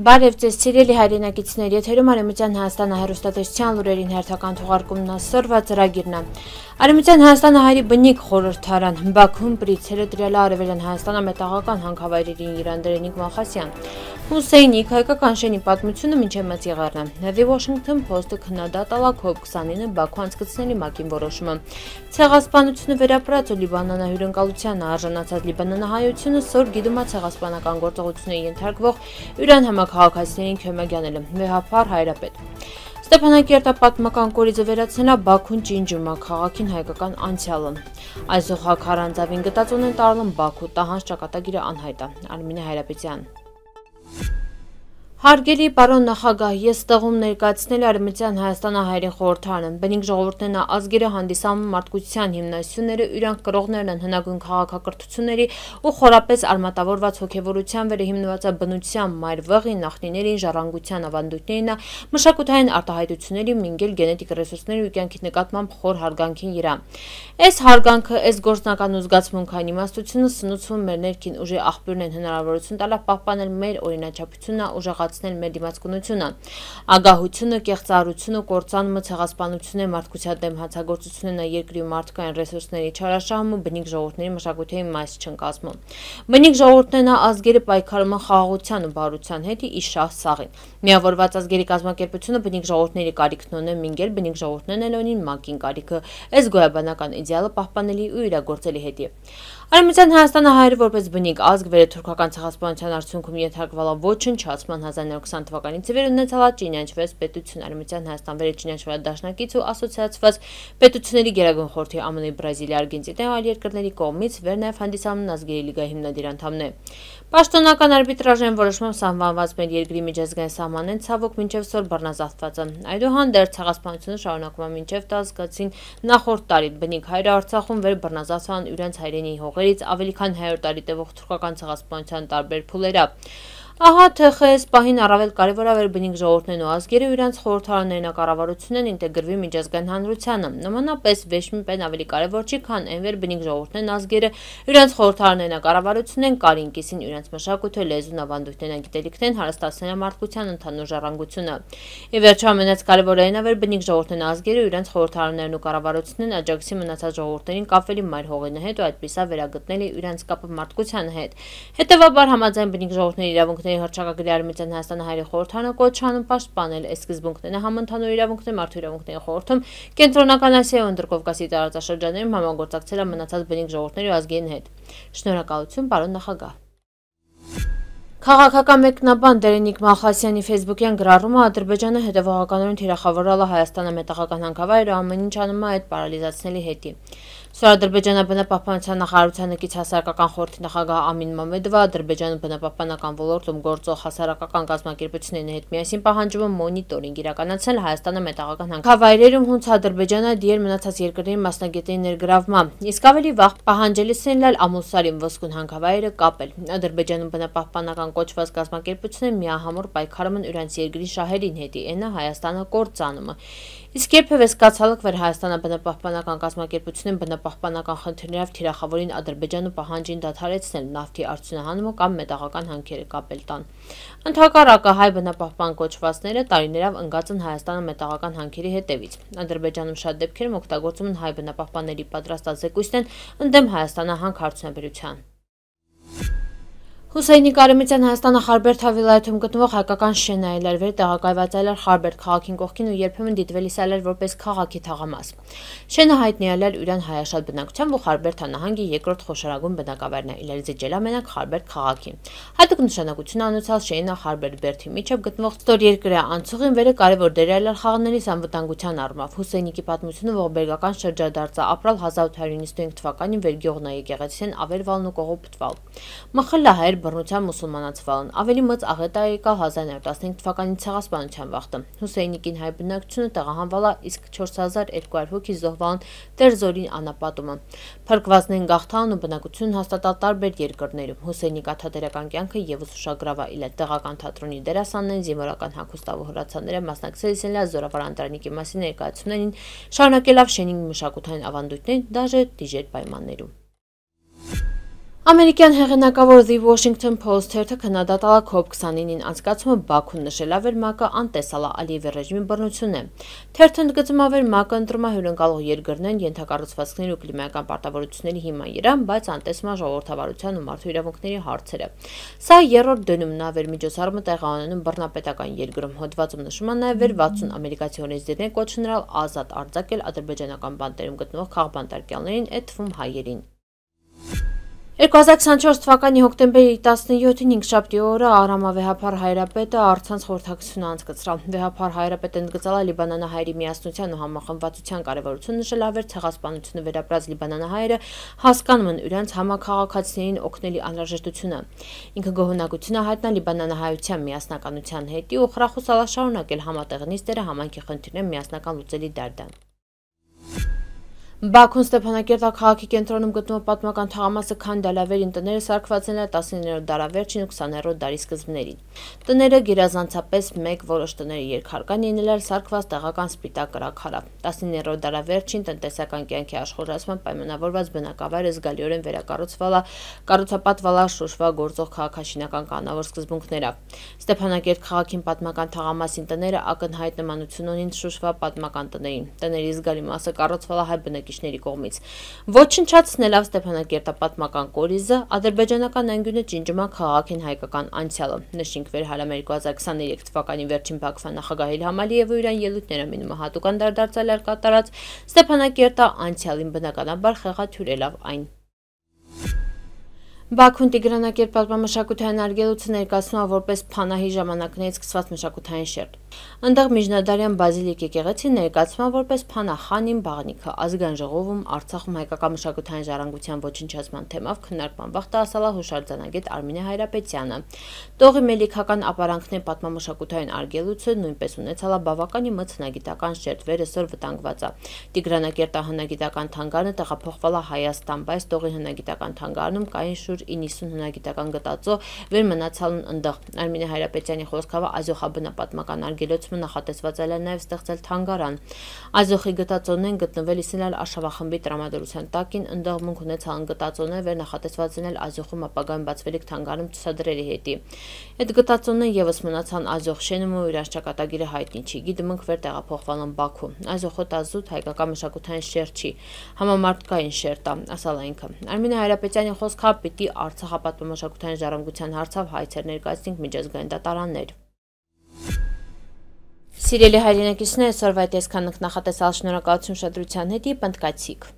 Բարև ձեզ սիրելի հայրենակիցներ, եթերում Արևմտյան Հայաստանը հեռուստատեսության լուրերին հերթական թողարկումն ասորվա ծրագիրն է։ Արևմտյան Հայաստանը հայերի բնիկ խորհրդարան, Բաքվում պրիցերը տրյալը Արևելյան Հայաստանը մետաղական հանքավայրերին Իրանդերենիկ Մոխասյան, Հուսեյնիկ հայկական շենի պատմությունը մինչև մեծ եղեռն է։ The Washington Post-ը քննադատել է COP29-ը Բաքու անցկացնելի ՄԱԿ-ին որոշումը։ Ցեղասպանությունը վերապրած ու Լիբանանահյուրընկալությանը արժանացած լիբանանահայությունը սոր գիտում է ցեղասպանական գործողությունների ենթարկվող Իրան համաքաղաքացիներին քյոմագյանելը, վեհափառ հայրապետ։ Ստեփանակերտապատմական կորիզը վերացնելա Բաքուն ջինջում է քաղաքին հայկական անցյալը։ Այսօր քարանձավին գտած ունեն տարլում Բաքու տահանջ ճակատագիրը անհայտ է։ Արմինե Հայրապետյան։ Հարգելի պարոն նախագահ, ես ստեղում ներկայացնել Արևմտյան Հայաստանը հայերին խորհրդարանը, բնիկ ժողովուրդներն ազգերը հանդիսանում մարդկության հիմնասյուները, իրանք կրողներն են հնագույն քաղաքակրթությունների ու խորապես արմատավորված հոգևորության վրա հիմնված բնության մայրվեղին, նախնիներին, ժառանգության ավանդույթներին, մշակութային արտահայտությունների, մինգել գենետիկ ռեսուրսների ու կյանքի նկատմամբ խոր հարգանքին իրա։ Այս հարգանքը, այս գործնական ու զգացմունքային իմաստությունը սնուցվում մեր ներքին ուժի աղբյուրն են հնարավորություն տալով պահպանել մեր օրինաչափությունը, ուժեղացնել մեր դիմացկունությունը, ագահությունը, կեղծարարությունը, կործանումը, ցեղասպանությունը, մարդկության դեմ հանցագործությունը, երկրի ու մարդկային ռեսուրսների չարաշահումը, բնիկ ժողովուրդների մշակութային մաս չեն կազմում։ Բնիկ ժողովուրդներն ազգերը պայքարում են խաղաղության ու բարության հետ ի շահ սաղին։ Միավորված ազգերի կազմակերպությունը բնիկ ժողովուրդների կարիքն ունի, մինգել բնիկ ժողովուրդներն էլ ունին ՄԱԿ-ին կարիքը, այս գոյաբանական իդեալը պահպանելի ու իրագործելի հետի։ Արևմտյան Հայաստանը հայերը որպես բնիկ ազգ վերաթուրքական ցեղասպանության արդյունքում ենթարկվել է ոչնչացման 1920 թվականից ի վեր ունեցել ճինիանչված պետություն Արևմտյան Հայաստան վերաճինիանչված դաշնակից ու ասոցիացված պետությունների գերագույն խորհրդի ԱՄՆ, Բրազիլիա, Արգենտինա ու այլ երկրների կողմից վեր նաև հանդիսանում ազգերի լիգայի հիմնադիր անդամն է։ Պաշտոնական արբիտրաժային որոշմամբ սահմանված մեր երկրի միջազգային սահմանեն ցավոք մինչև սոր բռնազավթված է։ Այդուհանդերձ ցեղասպանությունը շարունակվում է մինչև տասկացին նախորդ տարի բնիկ հայերը Արցախում վեր բռնազավթան իրենց հայրենի հողերից ավելի քան 100 տարի տևող թուրքական ցեղասպանության տարբեր փուլերով։ Ահա թե խես պահին առավել կարևոր է բնիկ ժողովուրդներն ու ազգերը իրենց խորհրդարաններն կառավարությունն ինտեգրվի միջազգային հանրությանը։ Նմանապես վեշմիպեն ավելի կարևոր չի, քան այնվեր բնիկ ժողովուրդներն ազգերը իրենց խորհրդարաններն կառավարությունն կարին կիսին իրենց մշակույթը, լեզուն, ավանդույթներն, գիտելիքներն հարստացնել մարդկության ընդհանուր ժառանգությունը։ Ի վերջո ամենաքարևորը այն է բնիկ ժողովուրդներն ազգերը իրենց խորհրդարաններն ու կառավարությունն աջակցի մնացած ժողովուրդներին կապվելի մայր հողերն հետ ու այդպիսա վերագտնելի իրենց կապը մարդկության հետ։ Հետևաբար համաձայն բնիկ ժողովուրդների իրավունքների հռչակագրի Արևմտյան Հայաստանը հայերի խորհրդարանը կոչանում պաշտպանել այս սկզբունքները համընդհանուր իրավունքների մարդու իրավունքների խորհրդում Կենտրոնական Ասիայի ու Ընտրկովկասի տարածաշրջաններում համագործակցել մնացած բնիկ ժողովուրդների ու ազգերին հետ։ Շնորհակալություն, պարոն նախագահ։ Քաղաքական մեկնաբան Դերենիկ Մոխասյանի ֆեյսբուքյան գրառումը Ադրբեջանը հետևողականորեն թիրախավորել է Հայաստանը մետաղական հանքավայրը ամեն ինչ անում է այդ պարալիզացնելի հետի։ Ադրբեջանը բնապահպանության նախարարության նկից հասարակական խորհրդի նախագահ Ամին Մամեդովը Ադրբեջանը բնապահպանական ոլորտում գործող հասարակական կազմակերպությունների հետ միասին պահանջում է մոնիտորինգ իրականացնել Հայաստանը մետաղական հանքավայրերում, հունց Ադրբեջանը դիեր մնացած երկրների մասնագետների ներգրավման, իսկ ավելի վաղ պահանջելիսն էլ Ամուսարին ոսկուն հանքավայրը կապել։ Ադրբեջանում բնապահպանական կոչված կազմակերպությունները միահամուռ պայքարում են իրենց երկրի շահերին հետի, այնը Հայաստանը կործանումը։ Իսկ երբևէ սկացալıq Հայաստանը բնապահպանական կազմակերպությունին բնապահպանական խնդիրներով թիրախավորին Ադրբեջանը պահանջին դադարեցնել նավթի արդյունահանումը կամ մետաղական հանքերը կապել տան։ Ընդհակառակը հայ բնապահպան կոչվածները տարիներով ընկած են Հայաստանը մետաղական հանքերի հետևից։ Ադրբեջանում շատ դեպքերում օգտագործում են հայ բնապահպանների պատրաստած զեկույցներն ընդդեմ Հայաստանը հանք արդյունաբերության։ Հուսեյնիկ Արևմտյան Հայաստանը Խարբերդ վիլայեթում գտնվող հայկական շենն է այլևեր տեղակայված այլեր Խարբերդ քաղաքին կողքին ու երբեմն դիտվելիս այլեր որպես քաղաքի թաղամաս։ Շենը հայտնի այլեր իրան հայաշատ բնակությամբ ու Խարբերդ հանահանգի երկրորդ խոշորագույն բնակավայրն է իլերից ջելամենակ Խարբերդ քաղաքին։ Հատուկ նշանակություն անցած շենը Խարբերդ բերդի միջև գտնվող ստորերկրյա անցուղին վերը կարևոր դեր այլեր խաղանների անվտանգության առումով։ Հուսեյնիկի պատմությունը ողբերգական շրջադարձ ապրալ 1895 թվականին վերգյողնա եկեղեցին ավերվալն ու կողոպտվալ։ Մխլահայր բռնության մուսուլմանացվալն ավելի մեծ աղետ է եկալ 1915 թվականի ցեղասպանության վաղտը։ Հուսեյնիկին հայ բնակչությունը տեղահանվել է, իսկ 4200 հոգի զոհվան Տերզորին անապատումը։ Փրկվածներին գաղթան ու բնակություն հաստատալ տարբեր երկրներում։ Հուսեյնի կաթադրական կյանքը եւս ուշագրավ է իլ տեղական թատրոնի դերասաններին, զինվորական հագուստավոր հրացանները մասնակցել են զորավար Անդրանիկի մասին ներկայացումներին, շարունակելով շենի մշակութային ավանդույթներին դաժե դիժեր պայմաններում։ Ամերիկյան հեղինակավոր The Washington Post թերթը քննադատել է COP29-ին անցկացումը Բաքուն, նշելով որ ՄԱԿ-ը անտեսալ է Ալիևի ռեժիմի բռնությունն է։ Թերթը ընդգծում է, որ ՄԱԿ-ը ընտրում է հյուրընկալող երկրներն ենթակառուցվածքների ու կլիմայական պարտավորությունների հիման իրան, բայց անտեսում է ժողովրդավարության ու մարդու իրավունքների հարցերը։ Սա երրորդ դնում է, որ միջոցառումը տեղի ունենում բռնապետական երկրում։ Հոդվածում նշում է նաև, որ 60 ամերիկացի օրենսդիրներ կոչվել ազատ արձակել ադրբեջանական բանտերում գտնվող քաղբանտարկյալներին, այդ թվում հայերին։ 2024 թվականի հոկտեմբերի 17-ին հինգշաբթի օրը Արամավեհափար հայրապետը առցանց խորհրդակցություն անցկացրավ։ Վեհափար հայրապետը ընդգծել է լիբանանահայերի միասնության ու համախմբվածության կարևորությունը, նշելով որ ցեղասպանությունը վերապրած լիբանանահայերը հասկանում են իրենց համաքաղաքացիներին օգնելի անհրաժեշտությունը։ Ինքը գոհունակություն է հայտնել լիբանանահայության միասնականության հետի ու խրախուսել շարունակել համատեղ նիստերը համայնքի խնդիրները միասնական լուծելի դարդան։ Բաքուն Ստեփանակերտի քաղաքի կենտրոնում գտնվող պատմական թաղամասը Քանդալավերին տները սարքված են 19-րդ դարավերջին ու 20-րդ դարի սկզբներին։ Տները գերազանցապես մեկ, որոշ տները երկհարկան լինել սարքված տեղական սպիտակ կրաքարով։ 19-րդ դարավերջին տնտեսական կյանքի աշխուժացման պայմանավորված բնակավայրը զգալիորեն վերակառուցվել է, կառուցապատվել է շոշվա գործող քաղաքաշինական կանոնավոր սկզբունքներով։ Ստեփանակերտ քաղաքին պատմական թաղամասին տները ակնհայտ նմանություն ունին շոշվա պատմական տներին։ Տների զգալի մասը կառուցվել է հայ բնակիչների կողմից։ Ոչնչացնելով Ստեփանակերտապատմական կորիզը, ադրբեջանական անկյունը ջինջում է քաղաքին հայկական անցյալը։ Նշենք որ հալամերիկ 2023 թվականի վերջին Բաքվա նախագահ Իլհամ Ալիևը իր ելույթները մինիմը հատուկ անդրադարձել էր կատարած Ստեփանակերտի անցյալին բնականաբար խեղաթյուրելով այն։ Բաքուն Տիգրանակերտ պատմամշակութային արգելոցը ներկայացնում է որպես Փանահի ժամանակներից սկսված մշակութային շերտ։ Այնտեղ միջնադարյան բազիլիկ եկեղեցին ներկայացվում է որպես Փանահանին բաղնիքը։ Ազգային ժողովում Արցախում հայկական մշակութային ժառանգության ոչնչացման թեմով քննարկման վաղ ասալ է հուշարձանագետ Արմինե Հայրապետյանը։ Տողի մելիքական ապարանքների պատմամշակութային արգելոցը նույնպես ունեցել է բավականին մեծ հնագիտական շերտ, վերեսօր վտանգված է։ Տիգրանակերտի հնագիտական թանգարանը տեղափոխվել է Հայաստան, բայց Տողի հնագիտական թանգարանում կային շուրջ 90 հնագիտական գտածո վեր մնացալն ընդեղ։ Արմինե Հայրապետյանի խոսքով ազոխաբնապատմական արգելոցը նախատեսված է նաև ստեղծել թանգարան։ Ազոխի գտածոներն գտնվել իսնել Արշավախմբի տրամադրության տակին, ընդեղ մունք ունեցան գտածոներ, վեր նախատեսված են Ազոխում ապագայում բացվելիք թանգարանում ցուցադրելի հետի։ Այդ գտածոներն եւս մնացան Ազոխ շենում ու իր ճակատագիրը հայտնի չի։ Գիտմունք վեր տեղափոխվել են Բաքու։ Ազոխը տազուտ հայկական մշակութային շերտ չի, համամարտկային շերտ է, ասալ ինքը։ Արմինե Հայրապետյանի խոսքով պիտի Արցախապատմամշակութային ժառանգության հարցով հայցեր ներկայացնենք միջազգային դատարաններ։ Սիրելի հայրենակիցներ, այսօրվա այդ այսքան նախատեսալ, շնորհակալություն ուշադրության հետ, պնդկացիք։